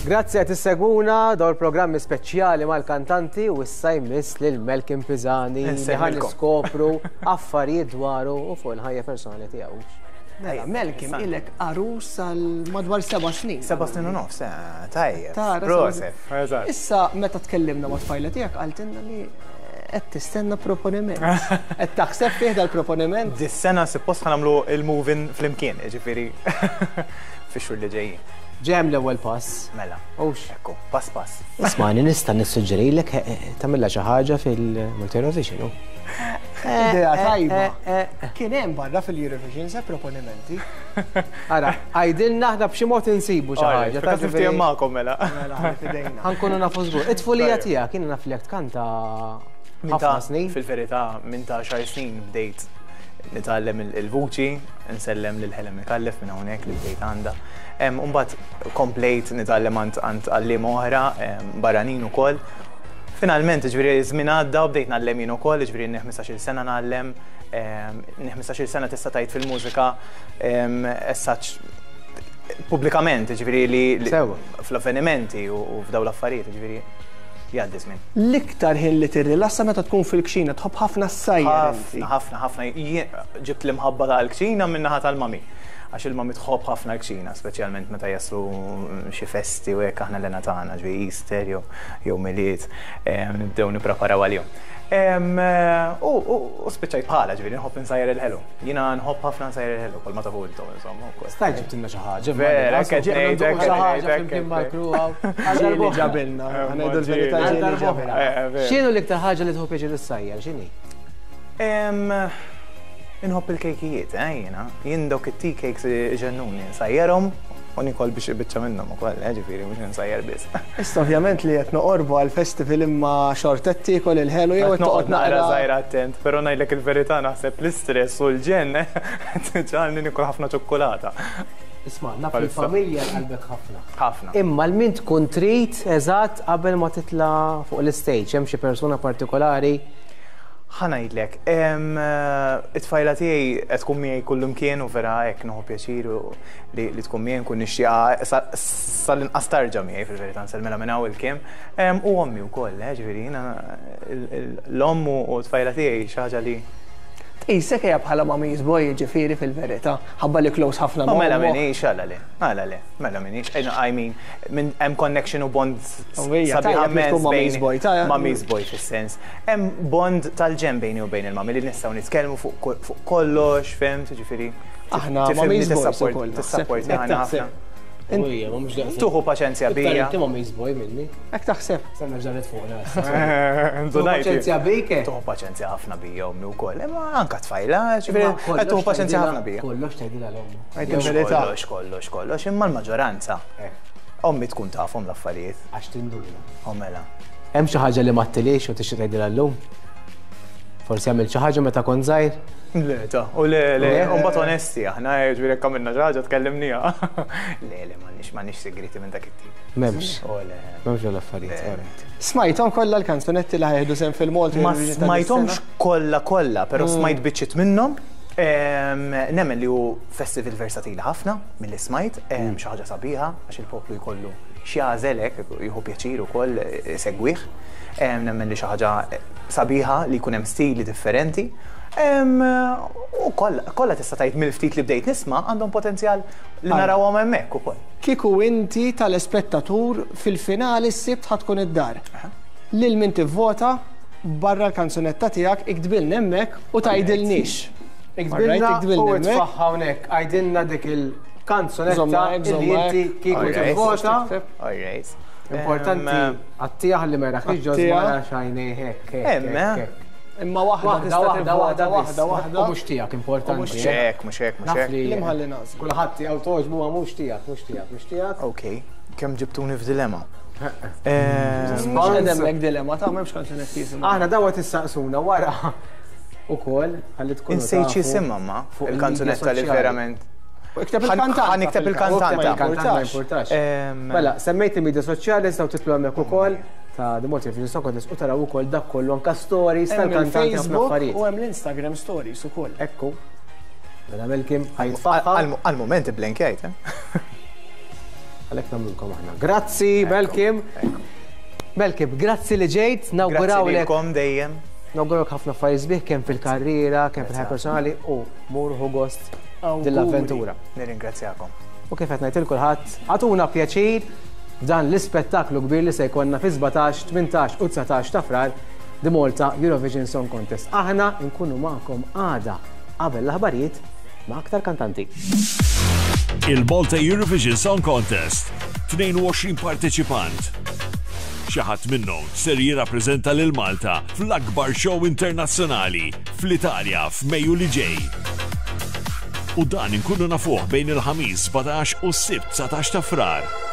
Grazzi qed issegwuna dawn il-programmi speċjali mal-kantanti u issa jmiss lil Malcolm Pisani li ħa niskopru affarijiet dwaru u fuq il-ħajja personali tiegħu. Mela, Malcolm ilek għarus għal madwar seba' snin. Seba' snin u nofs, eh, tajjeb. Proset. Issa meta tkellimna ma' tfajla tiegħek qaltilna li qed tistenna proponiment. Qed taħseb fih dal-proponiment? Dis-sena suppost ħa nagħmlu il-moving flimkien, jiġifieri fix-xhur li ġejjin. Ġem l-ewwel pass. Mela. Ux. Ekku, pass pass. Ismani nista' nissuġġerilek eh, eh, tagħmilha xi ħaġa fil-Multi Eurovision. Idea eh, tajba. Kien hemm barra fil-Eurovision se proponimenti. Ara, għajdilna aħna b'xi mod insibu xi ħaġa. Ta' niftiehem magħkom mela. Mela, fidejna. Ħankunu nafu żgur. It-tfulija tiegħek jiena naf li jekk tkanta ħafna snin. Fil-verità, minn ta' xar snin bdejt nitgħallem il-vuċi, nsellem lil Helen Micallef minn hawnhekk li bdejt għandha. Imbagħad komplejt nitgħallem għand għalliema oħra barranin ukoll. Finalment, ġifieri żmien għadda u bdejt ngħallem jien ukoll, ġifieri inni 15-il sena ngħallem, inni 15-il sena tista' tgħid fil-mużika as such pubblikament, ġifieri li fl-avvenimenti u f'dawn l-affarijiet, ġifieri jgħaddi żmien. L-iktar ħin li tirrilassa meta tkun fil-kċina, tħobb ħafna ssajjar inti. Ħafna, ħafna, ħafna. Ġibt l-imħabba tal-kċina min-naħa tal-mami. Għax il-mami tħobb ħafna l-kċina, speċjalment meta jaslu xi festi u hekk aħna l-hena tagħna, ġifieri Easter jew Milied, nibdew nippreparaw għalihom. U spiċċajt bħala, ġifieri nħobb insajjar il-ħelu. Jiena nħobb ħafna nsajjar il-ħelu, bħalma tafu intom insomma wkoll. Stajt ġibtilna xi ħaġa. Vera, qed ngħidlek. Xi ħaġa flimkien mal-crew hawn. Ġieli ġabilna, ħa ngħidu l-verità ġieli ġabilna. X'inhu l-iktar ħaġa li tieħu pjaċir issajjar, x'inhi? Inħobb il-kejkijiet, eh, jiena. Jien dawk it-tea cakes iġennuni, nsajjarhom u nikol biex biċċa minnhom ukoll, eh, ġifieri mhux insajjar biss. Issa ovvjament li qed noqorbu għall-festival imma xorta qed tiekol il-ħelu jew qed toqgħod naqra żgħira attent, però ngħidlek il-verità naħseb l-istress u l-ġenn qed iġagħalni niekol ħafna ċokkulata. Isma' naf li l-familja l-qalbek ħafna. Ħafna. Imma 'l min tkun trid eżatt qabel ma titla' fuq l-istage? Hemm xi persuna partikolari? Ħa ngħidlek, it-tfajla tiegħi qed tkun miegħi kullimkien u vera hekk nieħu pjaċir li tkun miegħi nkun nixtieqha sal-inqas tarġa' miegħi fil-verità nsellmilha minn hawn il-kiem. U ommi wkoll, eh, ġifieri jiena l-omm u t-tfajla tiegħi xi ħaġa li. Tqisek hija bħala mommy's boy jiġifieri fil-verità, ħabba li close ħafna ma' Mela m'iniex, għala le, għala le, mela m'iniex, I mean, hemm connection u bond sabiħa immens bejn mommy's boy fis-sens. Hemm bond tal-ġenn bejni u bejn il-mami li nistgħu nitkellmu fuq kollox, fhimt, jiġifieri. Aħna mommy's boys ukoll. Tissapportjana ħafna. Tuħu paċenzja bija. Inti mommy's boy minni. Hekk taħseb. Sanna ġaret fuqna. Tuħu paċenzja bik. Eh? Tuħu paċenzja ħafna bija ommi wkoll. Imma anka tfajla, ġifieri tuħu paċenzja ħafna bija. Kollox tgħidilha l-ommu. Kollox, kollox, kollox, imma l-maġġoranza. Eh. Ommi tkun tafhom l-affarijiet. Għax tinduna. U mela. Hemm xi ħaġa li ma ttilix u tixtieq tgħidilha llum? Forsi għamilt xi ħaġa meta kont żgħir? Le, ta, u le, le, u mbagħad onesti aħna, ġifieri jekk għamilna xi ħaġa tkellimniha. Le, le, m'għandniex m'għandniex segreti minn dak it-tip. M'hemmx. U le. M'hemmx dawn l-affarijiet. Smajthom kollha l-kanzunetti li ħa jieħdu sehem fil-Malta Ma smajthomx kollha kollha, però smajt biċċiet minnhom. Nemmen li hu festival versatili ħafna milli smajt, xi ħaġa sabiħa għax il-poplu jkollu x'jagħżel hekk, jieħu pjaċir ukoll isegwih. Nemmen li xi ħaġa sabiħa li jkun hemm stili differenti. U kollha tista' tgħid mill-ftit li bdejt nisma' għandhom potenzjal li narawhom hemmhekk ukoll. Kieku inti telespettatur fil-finali s-Sibt ħa tkun id-dar. Lil min tivvota barra l-kanzunetta tiegħek iktbilna hemmhekk u tgħidilniex. Iktbilna u itfagħha hawnhekk, għidilna dik il-kanzunetta li inti kieku tivvota. Importanti għattija ħalli ma jrakx ġo żmara xajnej hekk. Hemm, Imma waħda tista' waħda waħda waħda waħda. U mhux tiegħek importanti. Mhux hekk, mhux hekk, mhux hekk. Li mħalli nagħżlu. Kulħadd tiegħu togħġbu ma mhux tiegħek, mhux tiegħek, mhux tiegħek. Ok, kemm ġibtuni f'dilemma. Mhux qed hemmhekk dilemma ta' m'hemmx kanzunetti jisimgħu. Aħna dawn qed issaqsuna wara ukoll ħalli tkunu. Insejt x'isimha ma il-kanzunetta li verament. Ikteb il-kantanta. Ħa nikteb il-kantanta. Il-kantanta ma jimpurtax. Mela, semmejt il-media soċjali nistgħu titlu hemmhekk ukoll ta' The Malta Eurovision Song Contest u taraw ukoll dak kollu anka stories tal-kantanti ħafna affarijiet. U hemm l-Instagram stories ukoll. Ekku. Mela Melkim ħajtfaħħa. Għal-moment iblenkjajt, eh? Għalhekk nagħmlulkom aħna. Grazzi, Melkim. Melkim, grazzi li ġejt, nawgurawlek. Grazzi dejjem. Nawgurawlek ħafna affarijiet sbieħ kemm fil-karriera, kemm fil-ħajja personali u mur ħu gost din l-avventura. Nirringrazzjakom. U kif qed ngħid il kulħadd, għatuna pjaċir f'dan l-ispettaklu kbir li se jkollna fi 17, 18 u 19 ta' Frar The Malta Eurovision Song Contest. Aħna nkunu magħkom għada qabel l-aħbarijiet ma' aktar kantanti. Il-Malta Eurovision Song Contest, 22 parteċipant. Xi ħadd minnhom ser jirrappreżenta lil Malta fl-akbar show internazzjonali fl-Italja f'Mejju li ġej. U dan inkunu nafuh bejn il-Ħamis 17 u s-Sibt 19 ta' Frar.